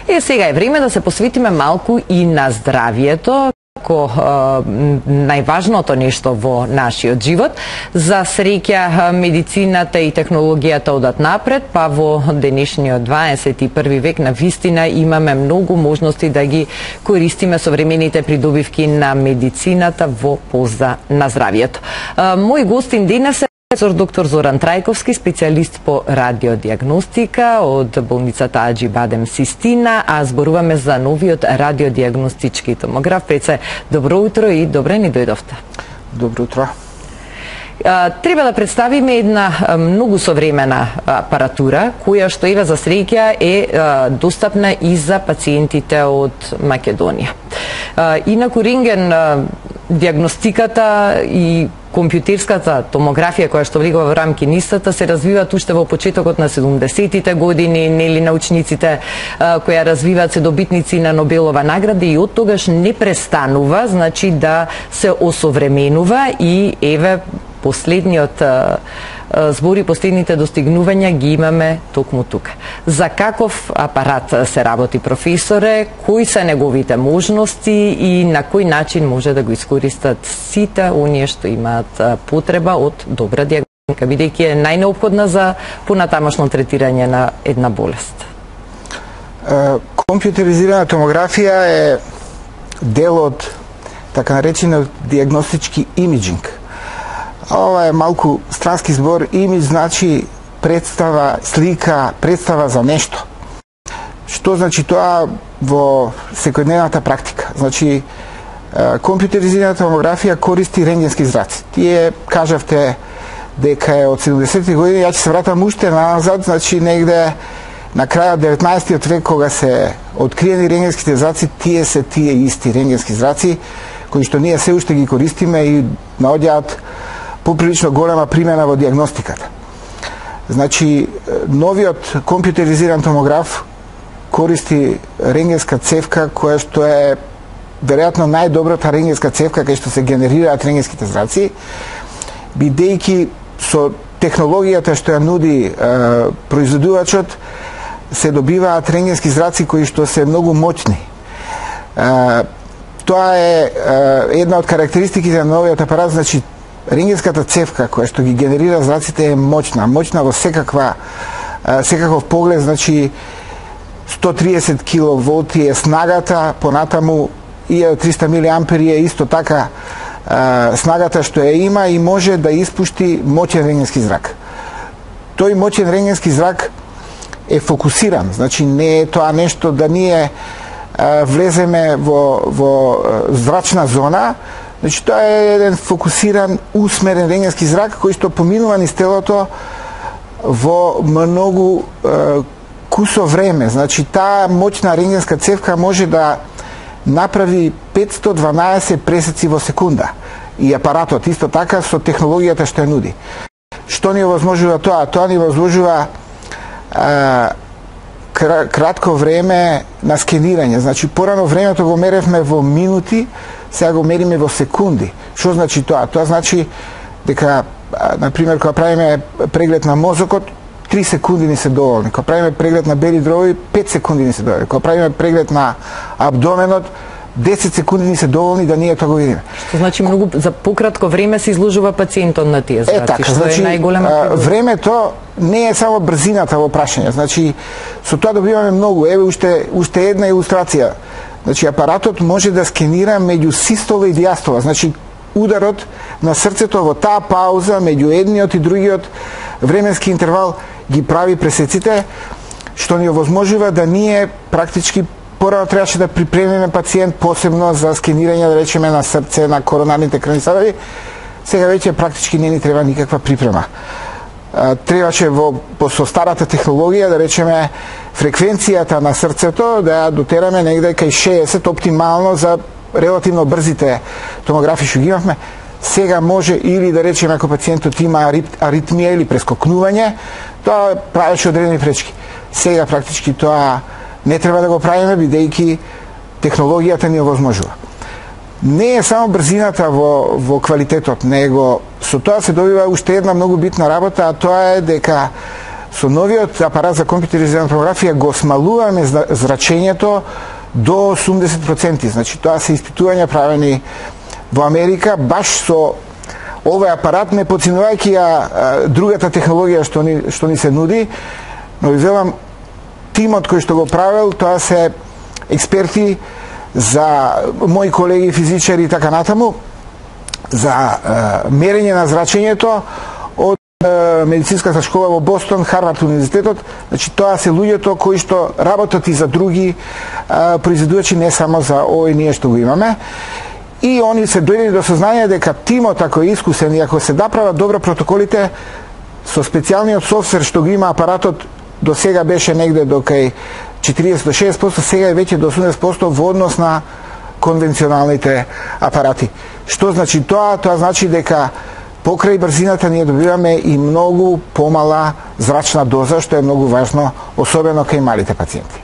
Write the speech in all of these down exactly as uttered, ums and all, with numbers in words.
Е, сега е време да се посветиме малку и на здравието, како најважното нешто во нашиот живот. За среќа медицината и технологијата одат напред, па во денешниот дваесет и први век на вистина имаме многу можности да ги користиме современите придобивки на медицината во полза на здравието. Мој гостин денес е професор доктор Зоран Трајковски, специјалист по радиодиагностика од болницата Аџи Бадем Систина, а зборуваме за новиот радиодиагностички томограф. Преце, добро утро и добре ни дојдовте. Добро утро. Треба да представиме една многу современа апаратура, која што еве за среќа е достапна и за пациентите од Македонија. Инаку рентген диагностиката и компјутерската томографија која што влегува во рамки НИСТ-та се развиваат уште во почетокот на седумдесетите години, нели научниците кои ја развиваат се добитници на Нобелова награда и од тогаш не престанува, значи да се осовременува и еве последниот збори, последните достигнувања ги имаме токму тука. За каков апарат се работи, професоре, кои се неговите можности и на кој начин може да го искористат сите оние што имаат потреба од добра диагностика, бидејќи е најнеопходна за понатамошно третирање на една болест? Компјутеризирана томографија е дел од така наречениот диагностички имиджинг. Ова е малку странски збор. Имидж значи представа, слика, представа за нешто. Што значи тоа во секојдневната практика? Значи, компјутеризирана томографија користи рентгенски зраци. Тие кажавте дека е од седумдесетите години, ја ќе се вратам уште назад, значи негде на крајот деветнаесеттиот век, кога се откриени рентгенските зраци, тие се тие исти рентгенски зраци, кои што ние се уште ги користиме и наоѓаат поприлично голема примена во диагностиката. Значи, новиот компјутеризиран томограф користи рентгенска цевка, која што е веројатно најдобрата рентгенска цевка кај што се генерираат рентгенските зраци, бидејќи со технологијата што ја нуди е, производувачот, се добиваат рентгенски зраци кои што се многу моќни. Е, тоа е, е една од карактеристиките на новиот апарат, значи рентгенската цевка која што ги генерира зраците е моќна, моќна во секаква секаков поглед, значи сто триесет киловолти е снагата, понатаму илјада и триста милиампери е исто така снагата што ја има и може да испушти моќен рентгенски зрак. Тој моќен рентгенски зрак е фокусиран, значи не е тоа нешто да ние влеземе во, во зрачна зона. Значи, тоа е еден фокусиран, усмерен рентгенски зрак кој што поминува низ телото во многу е, кусо време. Значи, таа моќна рентгенска цевка може да направи петстотини и дванаесет пресеци во секунда. И апаратот исто така со технологијата што ја нуди. Што ни овозможува тоа? Тоа ни овозможува е, кратко време на скенирање. Значи, порано времето го меревме во минути, сега го мериме во секунди. Што значи тоа? Тоа значи дека, например, кога правиме преглед на мозокот, три секунди ни се доволни. Кога правиме преглед на бели дробови, пет секунди ни се доволни. Кога правиме преглед на абдоменот, десет секунди ни се доволни да ние тоа го видиме. Што значи многу за пократко време се изложува пациентот на тие зраци, е, така, што значи, е најголема придобивка. Времето не е само брзината во прашање. Значи, со тоа добиваме многу. Еве уште уште една илустрација. Значи, апаратот може да скенира меѓу систола и диастола. Значи, ударот на срцето во таа пауза меѓу едниот и другиот временски интервал ги прави пресеците, што ни овозможува да ние практички порано требаше да припремиме пациент посебно за скенирање, да речеме, на срце, на коронарните крвни садови. Сега веќе практички не ни треба никаква припрема. Требаше во со старата технологија, да речеме, фреквенцијата на срцето да ја дотераме негде кај шеесет оптимално за релативно брзите томографи што ги имавме. Сега може или да речеме ако пациентот има аритмија или прескокнување, тоа правеше одредени пречки. Сега практички тоа не треба да го правиме, бидејќи технологијата ни овозможува. Не е само брзината во, во квалитетот, него со тоа се добива уште една многу битна работа, а тоа е дека Со новиот апарат за компјутеризирана томографија го смалуваме зрачењето до осумдесет проценти. Значи, тоа се испитувања правени во Америка, баш со овој апарат, не подценувајќи ја другата технологија што ни, што ни се нуди, но ви велам, тимот кој што го правил, тоа се експерти за мои колеги физичари и така натаму, за е, мерење на зрачењето од е, медицинската школа во Бостон, Харвард универзитетот. Значи, тоа се луѓето кои што работат и за други е, произведувачи, не само за овој ние што го имаме. И они се дојдени до сознание дека тимот, ако е искусен и ако се направат добро протоколите, со специјалниот софтвер што го има апаратот, до сега беше негде до кај четириесет до шеесет проценти, сега е веќе до осумдесет проценти во однос на конвенционалните апарати. Што значи тоа? Тоа значи дека покрај брзината ние добиваме и многу помала зрачна доза, што е многу важно, особено кај малите пациенти.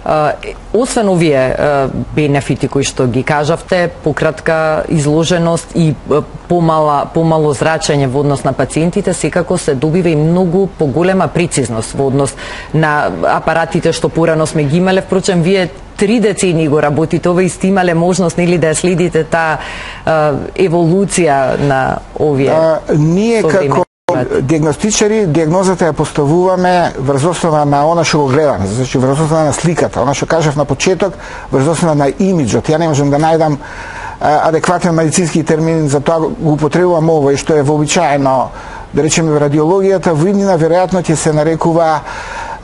Uh, освен овие uh, бенефити кои што ги кажавте, пократка изложеност и uh, помала, помало зрачење во однос на пациентите, секако се добива и многу поголема прецизност во однос на апаратите што порано сме ги имале. Впрочем, вие три децени го работите, ова и сте имале можност, нели, да следите таа uh, еволуција на овие uh, ние како диагностичари, диагнозата ја поставуваме врз основа на она што го гледаме, значи врз основа на сликата, она што кажав на почеток, врз основа на имиджот. Ја не можам да најдам а, адекватен медицински термин, за тоа го употребувам ово и што е вообичаено, да речеме, во радиологијата, во иднина веројатно ќе се нарекува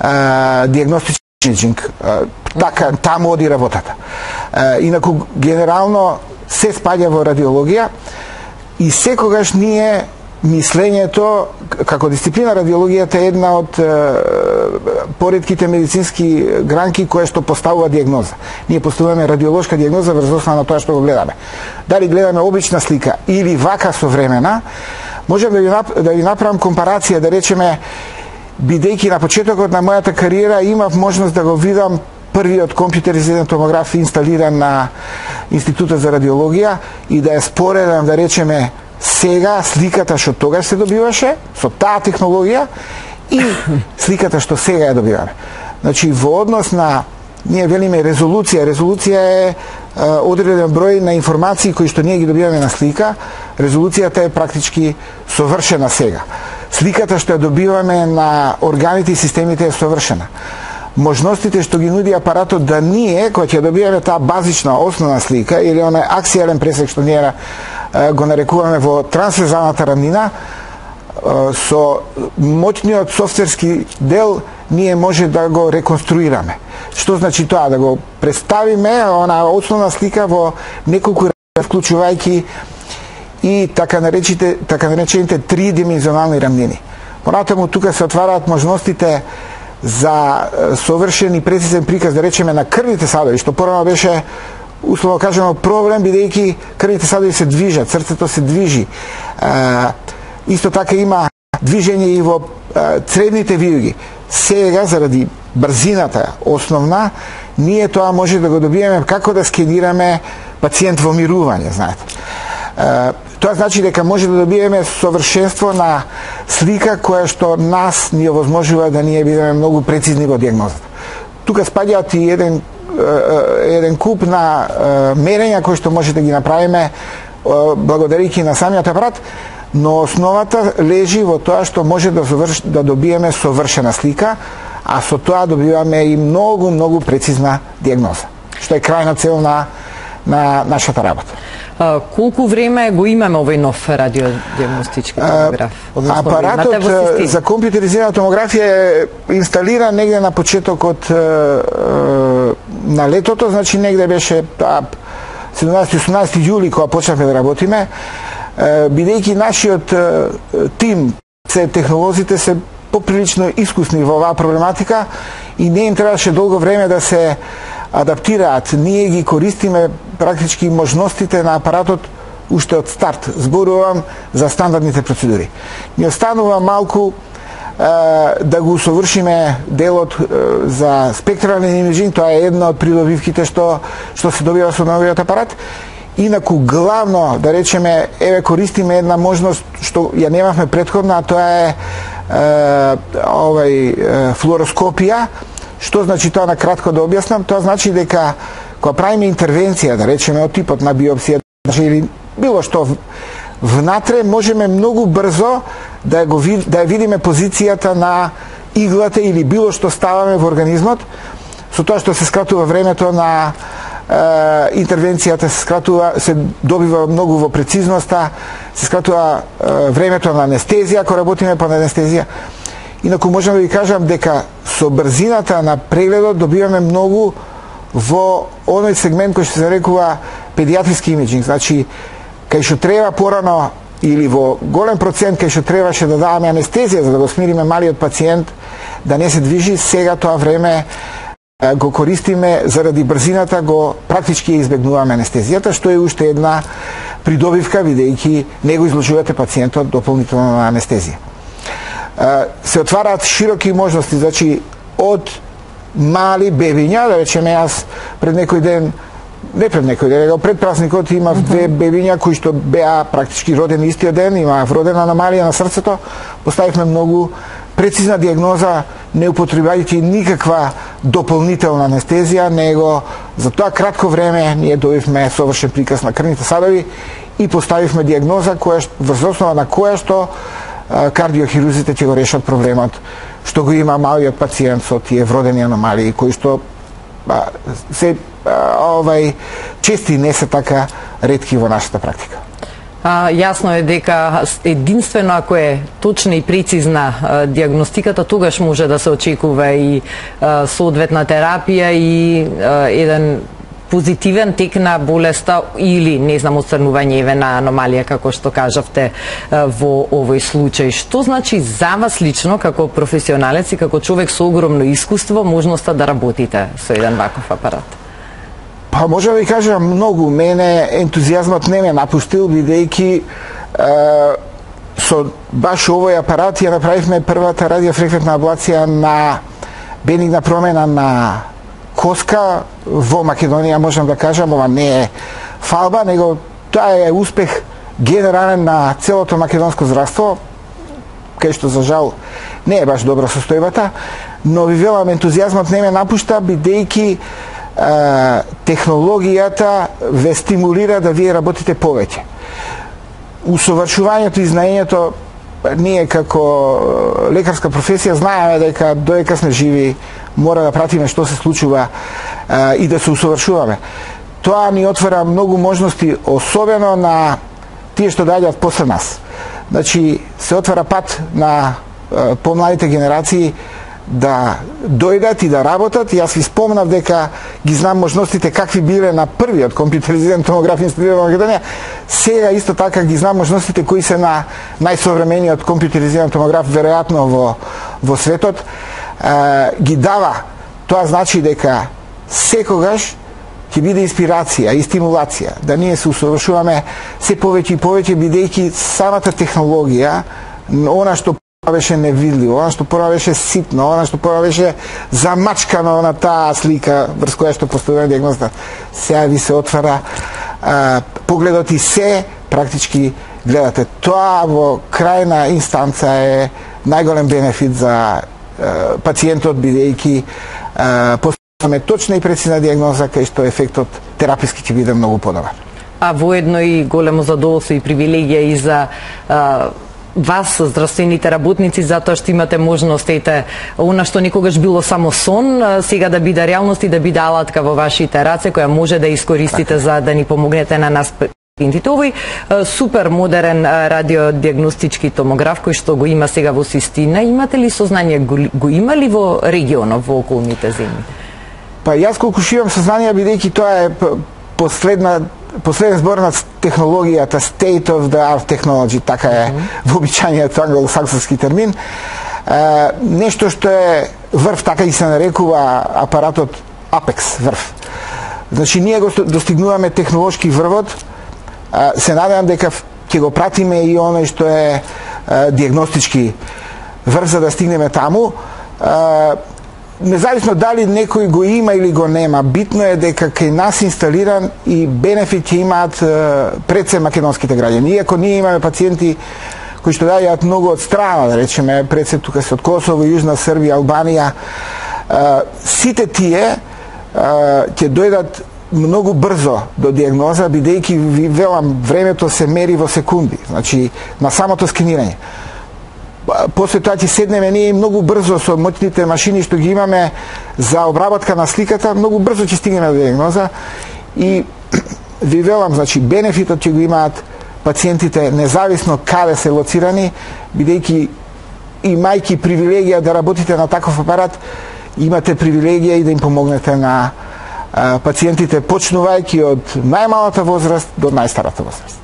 а, диагностичен имиджинг. Така, таму оди работата. А, инаку, генерално, се спаѓа во радиологија и секогаш ние мислењето, како дисциплина радиологијата е една од е, поредките медицински гранки која што поставува диагноза. Ние поставуваме радиолошка диагноза врз основа на тоа што го гледаме. Дали гледаме обична слика или вака современа, можам да ви, да ви направам компарација, да речеме, бидејќи на почетокот на мојата кариера имав можност да го видам првиот компјутеризиран томограф инсталиран на Институтот за радиологија и да ја споредам, да речеме, сега сликата што тогаш се добиваше со таа технологија и сликата што сега ја добиваме. Значи, во однос на, ние велиме резолуција, резолуција е, е одреден број на информации кои што ние ги добиваме на слика, резолуцијата е практички совршена сега. Сликата што ја добиваме на органите и системите е совршена. Можностите што ги нуди апаратот да ние, кога ќе добиваме таа базична основна слика или онај аксијален пресек што ние го нарекуваме во трансферзалната рамнина, со моќниот софтверски дел ние може да го реконструираме. Што значи тоа? Да го представиме она основна слика во неколку рамнина, вклучувајќи и така наречените така наречените тридимензионални рамнини. Понатаму тука се отвараат можностите за совршен и прецизен приказ, да речеме, на крвните садови, што порано беше, условно кажемо, проблем, бидејќи крвните садови се движат, срцето се движи. А, исто така има движење и во а, цревните вијуги. Сега, заради брзината основна, ние тоа може да го добиеме како да скенираме пациент во мирување, знаете. А, тоа значи дека може да добиеме совршенство на слика која што нас ни овозможува да ние бидеме многу прецизни во диагнозата. Тука спаѓаат и еден еден куп на мерења кои што може да ги направиме благодарејќи на самиот апарат, но основата лежи во тоа што може да, заврш, да добиеме совршена слика, а со тоа добиваме и многу, многу прецизна диагноза, што е крајна цел на, на нашата работа. А, колку време го имаме овој нов радиодиагностички томограф? Апаратот за компјутеризирана томографија е инсталиран негде на почетокот на летото, значи негде беше седумнаесети-осумнаесети јули кога почнавме да работиме, бидејќи нашиот тим, се технолозите се поприлично искусни во оваа проблематика и не им требаше долго време да се адаптираат. Ние ги користиме практички можностите на апаратот уште од старт. Зборувам за стандардните процедури. Ни останува малку е, да го усовршиме делот е, за спектрален имиджинг, тоа е една од придобивките што што се добива со новиот апарат. Инаку главно, да речеме, еве користиме една можност што ја немавме претходна, а тоа е овај флуороскопија. Што значи тоа, на кратко да објаснам? Тоа значи дека кога правиме интервенција, да речеме од типот на биопсија или било што внатре, можеме многу брзо да го да ја видиме позицијата на иглата или било што ставаме во организмот, со тоа што се скратува времето на е, интервенцијата, се скратува, се добива многу во прецизноста, се скратува е, времето на анестезија, ако работиме под анестезија. Инаку можам да ви кажам дека со брзината на прегледот добиваме многу во оној сегмент кој што се нарекува педиатриски имиджинг, значи кај што треба порано или во голем процент кај што требаше да даваме анестезија за да го смириме малиот пациент да не се движи, сега тоа време го користиме заради брзината, го практички ја избегнуваме анестезијата, што е уште една придобивка, бидејќи не го изложувате пациентот дополнително на анестезија. Се отвараат широки можности, значи од мали бебиња, да речеме јас пред некој ден, не пред некој ден, него пред празникот имав две бебиња кои што беа практички родени истиот ден, имаат родена аномалија на срцето, поставивме многу прецизна диагноза, не употребајќи никаква дополнителна анестезија, него за тоа кратко време ние добивме совршен приказ на крвните садови и поставивме диагноза која врз основа на која што кардиохирурзите ќе го решат проблемот што го има малиот пациент со тие вродени аномалии кои што а, се а, овај чести, не се така ретки во нашата практика. А, јасно е дека единствено ако е точна и прецизна а, диагностиката, тогаш може да се очекува и а, соодветна терапија и а, еден позитивен тек на болеста или, не знам, отстранување на аномалија, како што кажавте во овој случај. Што значи за вас лично, како професионалец и како човек со огромно искуство, можноста да работите со еден ваков апарат? Па, може да ви кажам многу. Мене ентузијазмот не ме напустил, бидејќи со баш овој апарат ја направивме првата радиофреквентна аблација на бенигна промена на коска во Македонија, можам да кажам, ова не е фалба, него тоа е успех генерален на целото македонско здравство, кај што за жал не е баш добра состојбата, но ви велам, ентузијазмот не ме напушта, бидејќи технологијата ве стимулира да вие работите повеќе. Усовршувањето и знаењето, ние како лекарска професија знаеме дека додека сме живи мора да пратиме што се случува а, и да се усовршуваме. Тоа ни отвара многу можности, особено на тие што доаѓаат после нас. Значи, се отвара пат на а, помладите генерации да дојдат и да работат. Јас ви спомнав дека ги знам можностите какви биле на првиот компјутеризиран томограф инсталиран во Македонија. Сега исто така ги знам можностите кои се на најсовремениот компјутеризиран томограф веројатно во во светот. Uh, ги дава. Тоа значи дека секогаш ќе биде инспирација и стимулација да ние се усовршуваме се повеќе и повеќе, бидејќи самата технологија, она што беше невидливо, она што порано беше ситно, она што порано беше замачкано на таа слика врз која што постојува диагнозата, сега ви се отвара uh, погледот и се практички гледате. Тоа во крајна инстанца е најголем бенефит за пациентот, бидејќи поставаме точна и прецизна диагноза, кај што ефектот тераписки ќе биде многу подобар. А воедно и големо задоволство и привилегија и за а, вас, здравствените работници, затоа што имате можност, ете, она што никогаш било само сон, сега да биде реалност и да биде алатка во вашите раце, која може да искористите за да ни помогнете на нас пациентите. Овој супер модерен радиодиагностички томограф кој што го има сега во Систина, имате ли сознање, го има ли во регионот, во околните земји? Па јас колку шивам сознание, бидејќи тоа е последна последен збор на технологијата, state of the art technology, така е вообичаениот англосаксонски термин. Е, нешто што е врв, така и се нарекува апаратот Apex врв. Значи ние го достигнуваме технолошки врвот. Се надевам дека ќе го пратиме и оној што е диагностички врв за да стигнеме таму. Независно дали некој го има или го нема, битно е дека кај нас инсталиран и бенефит ќе имаат пред се македонските граѓани. Иако ние имаме пациенти кои што доаѓаат многу од страна, да речеме, пред се тука се од Косово, Јужна Србија, Албанија. Сите тие ќе дојдат многу брзо до диагноза, бидејќи ви велам, времето се мери во секунди, значи на самото скенирање. После тоа ќе седнеме ние многу брзо со моќните машини што ги имаме за обработка на сликата, многу брзо ќе стигнеме до диагноза и ви велам, значи бенефитот ќе го имаат пациентите независно каде се лоцирани, бидејќи имајќи привилегија да работите на таков апарат, имате привилегија и да им помогнете на пациентите, почнувајќи од најмалата возраст до најстарата возраст.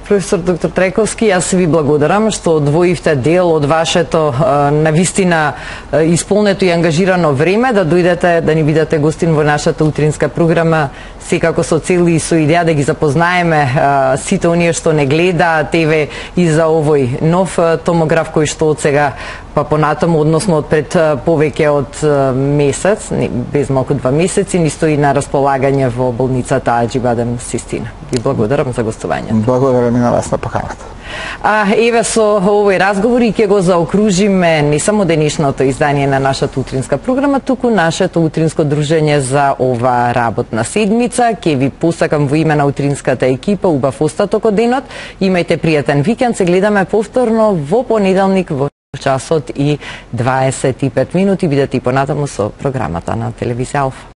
Професор доктор Трековски, јас ви благодарам што одвоивте дел од вашето навистина исполнето и ангажирано време да дојдете да ни бидете гостин во нашата утринска програма, секако со цел и со идеја да ги запознаеме сите оние што не гледаат Т В и за овој нов томограф кој што од сега па понатаму, односно од пред повеќе од месец, без малку два месеци, ни стои на располагање во болницата Аџибадем Систина. Ви благодарам за гостувањето. Благодарам и на вас на поканата. А еве со овој разговор и ќе го заокружиме не само денешното издание на нашата утринска програма, туку нашето утринско дружење за ова работна седмица. Ќе ви посакам во име на утринската екипа убав остаток од денот. Имајте пријатен викенд. Се гледаме повторно во понеделник во часот и дваесет и пет минути. Бидете и понатаму со програмата на телевизија Алфа.